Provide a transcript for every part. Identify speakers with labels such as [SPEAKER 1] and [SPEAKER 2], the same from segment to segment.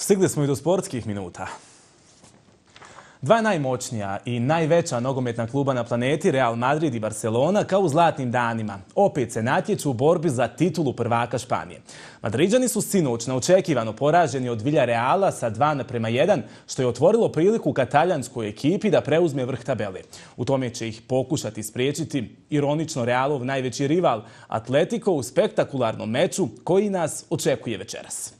[SPEAKER 1] Stigli smo i do sportskih minuta. Dva najmoćnija i najveća nogometna kluba na planeti, Real Madrid i Barcelona, kao u zlatnim danima, opet se natječu u borbi za titulu prvaka Španije. Madriđani su sinoć neočekivano poraženi od Villareala sa 2:1, što je otvorilo priliku kataljanskoj ekipi da preuzme vrh tabele. U tome će ih pokušati spriječiti ironično Realov najveći rival Atletico u spektakularnom meču koji nas očekuje večeras.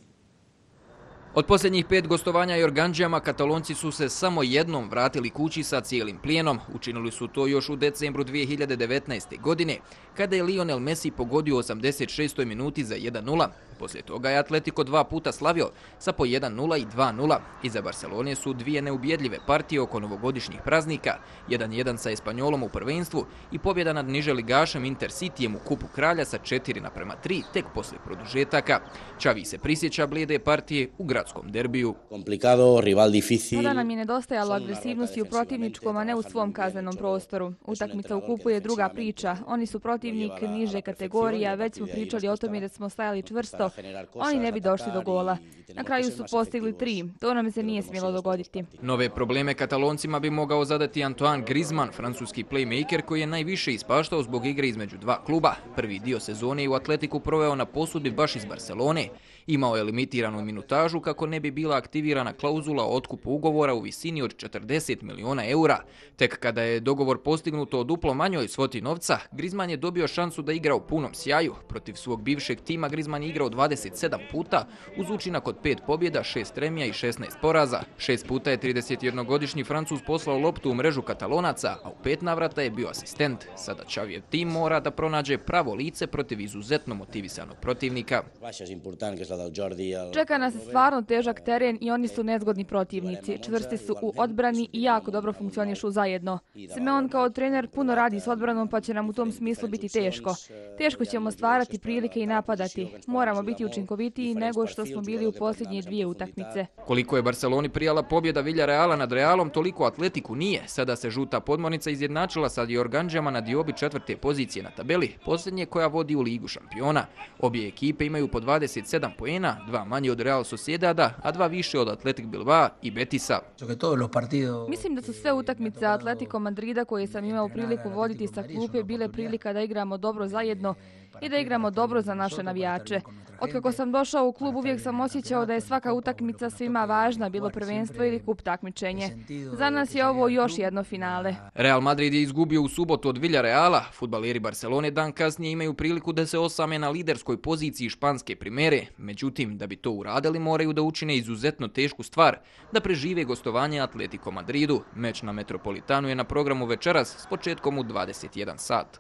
[SPEAKER 2] Od posljednjih 5 gostovanja Jorganđijama Katalonci su se samo jednom vratili kući sa cijelim plijenom. Učinili su to još u decembru 2019. godine, kada je Lionel Messi pogodio u 86. minuti za 1:0. Poslije toga je Atletico 2 puta slavio sa po 1:0 i 2:0. Iza Barcelone su dvije neubjedljive partije oko novogodišnjih praznika, 1:1 sa Espanjolom u prvenstvu i pobjeda nad niželigašem Intercityjem u Kupu kralja sa 4:3 tek poslije produžetaka. Xavi se prisjeća blijede partije u gradskom derbiju.
[SPEAKER 3] Tada nam je nedostajalo agresivnosti u protivničkom, a ne u svom kaznenom prostoru. Utakmica u Kupu je druga priča. Oni su protivnik niže kategorija, već smo pričali o tome da smo stajali čvrsto. Oni ne bi došli do gola. Na kraju su postigli 3. To nam se nije smjelo dogoditi.
[SPEAKER 2] Nove probleme Kataloncima bi mogao zadati Antoine Griezmann, francuski playmaker koji je najviše ispaštao zbog igre između dva kluba. Prvi dio sezone je u Atletiku proveo na posudbi baš iz Barcelone. Imao je limitiranu minutažu kako ne bi bila aktivirana klauzula o otkupu ugovora u visini od 40 miliona eura. Tek kada je dogovor postignut o duplo manjoj svoti novca, Griezmann je dobio šansu da igra u punom sjaju. Protiv svog bivšeg tima Griezmann je igrao 27 puta uz učinak od 5 pobjeda, 6 remija i 16 poraza. 6 puta je 31-godišnji Francuz poslao loptu u mrežu Katalonaca, a u 5 navrata je bio asistent. Sada Xavijev tim mora da pronađe pravo lice protiv izuzetno motivisanog protivnika.
[SPEAKER 3] Čeka nas stvarno težak teren i oni su nezgodni protivnici. Čvrsti su u odbrani i jako dobro funkcionišu zajedno. Simeon kao trener puno radi s odbranom, pa će nam u tom smislu biti teško. Teško ćemo stvarati prilike i napadati. Moramo biti učinkovitiji nego što smo bili u posljednje 2 utakmice.
[SPEAKER 2] Koliko je Barceloni prijala pobjeda Villareala nad Realom, toliko Atletiku nije. Sada se žuta podmornica izjednačila sa Jorganđijama na diobi 4. pozicije na tabeli, posljednje koja vodi u Ligu šampiona. Obje ekipe imaju po 27 poena, 2 manje od Real Sociedada, a 2 više od Athletic Bilbao i Betisa.
[SPEAKER 3] Mislim da su sve utakmice Atletico Madrida koje sam imao priliku voditi sa klupe bile prilika da igramo dobro zajedno i da igramo dobro za naše navijače. Otkako sam došao u klub uvijek sam osjećao da je svaka utakmica svima važna, bilo prvenstvo ili kup takmičenje. Za nas je ovo još jedno finale.
[SPEAKER 2] Real Madrid je izgubio u subotu od Villareala. Fudbaleri Barcelone dan kasnije imaju priliku da se osame na liderskoj poziciji španske primere. Međutim, da bi to uradili moraju da učine izuzetno tešku stvar, da prežive gostovanje Atletico Madridu. Meč na Metropolitanu je na programu večeras s početkom u 21 sat.